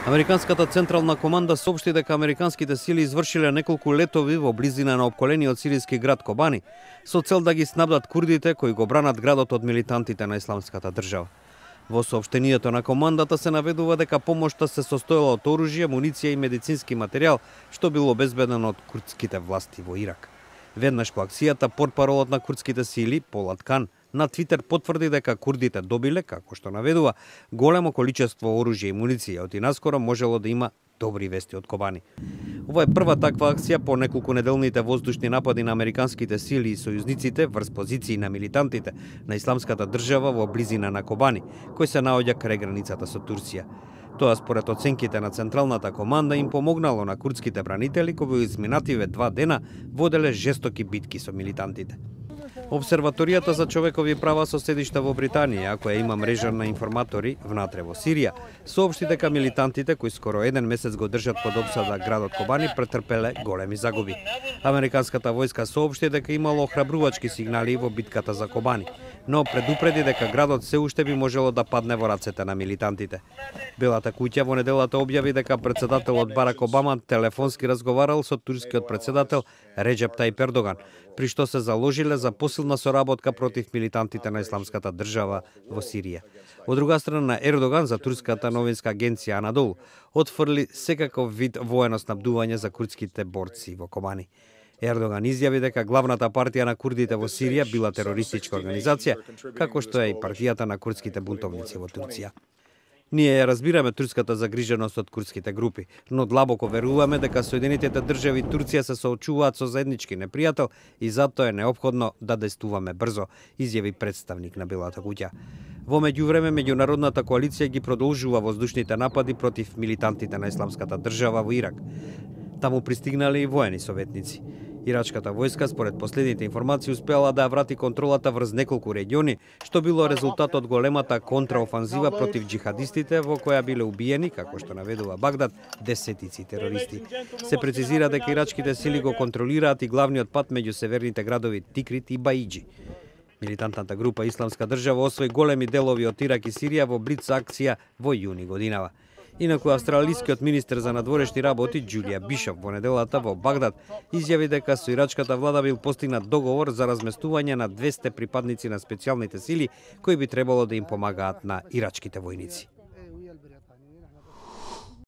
Американската централна команда соопшти дека американските сили извршиле неколку летови во близина на опколениот сиријски град Кобани со цел да ги снабдат курдите кои го бранат градот од милитантите на исламската држава. Во соопштението на командата се наведува дека помошта се состоела од оружје, муниција и медицински материјал што било обезбедено од курдските власти во Ирак. Веднаш по акцијата портпаролот на курдските сили Полат Кан на Твитер потврди дека курдите добиле, како што наведува, големо количество оружје и муниција, од и наскоро можело да има добри вести од Кобани. Ова е прва таква акција по неколку неделните воздушни напади на американските сили и сојузниците врз позиции на милитантите на исламската држава во близина на Кобани, кој се наоѓа крај границата со Турција. Тоа според оценките на Централната команда им помогнало на курдските бранители кои во изминативе 2 дена воделе жестоки битки со милитантите. Обсерваторијата за човекови права со седиште во Британија, која има мрежа на информатори внатре во Сирија, соопшти дека милитантите кои скоро еден месец го држат под опсада градот Кобани претрпеле големи загуби. Американската војска соопшти дека имало охрабрувачки сигнали во битката за Кобани, но предупреди дека градот се уште би можело да падне во рацете на милитантите. Белата куќа во неделата објави дека претседателот Барак Обама телефонски разговарал со турскиот претседател Реджеп Тајип Ердоган, при што се заложиле за посилна соработка против милитантите на исламската држава во Сирија. Од друга страна, Ердоган за турската новинска агенција Анадолу отфрли секаков вид воено снабдување за курдските борци во Кобани. Ердоган изјави дека главната партија на курдите во Сирија била терористичка организација, како што е и партијата на курдските бунтовници во Турција. Ние ја разбираме турската загриженост од курдските групи, но длабоко веруваме дека Соединетите држави и Турција се соочуваат со заеднички непријател и затоа е неопходно да действуваме брзо, изјави представник на Белата куќа. Во меѓувреме, меѓународната коалиција ги продолжува воздушните напади против милитантите на исламската држава во Ирак. Таму пристигнале и воени советници. Ирачката војска, според последните информации, успеала да ја врати контролата врз неколку региони, што било резултат од големата контраофанзива против джихадистите во која биле убиени, како што наведува Багдад, десетици терористи. Се прецизира дека ирачките сили го контролираат и главниот пат меѓу северните градови Тикрит и Баиџи. Милитантната група Исламска држава освои големи делови од Ирак и Сирија во блиц акција во јуни годинава. Инаку австралискиот министер за надворешни работи Џулија Бишоп во неделата во Багдад изјави дека со ирачката влада бил постигнат договор за разместување на 200 припадници на специјалните сили кои би требало да им помагаат на ирачките војници.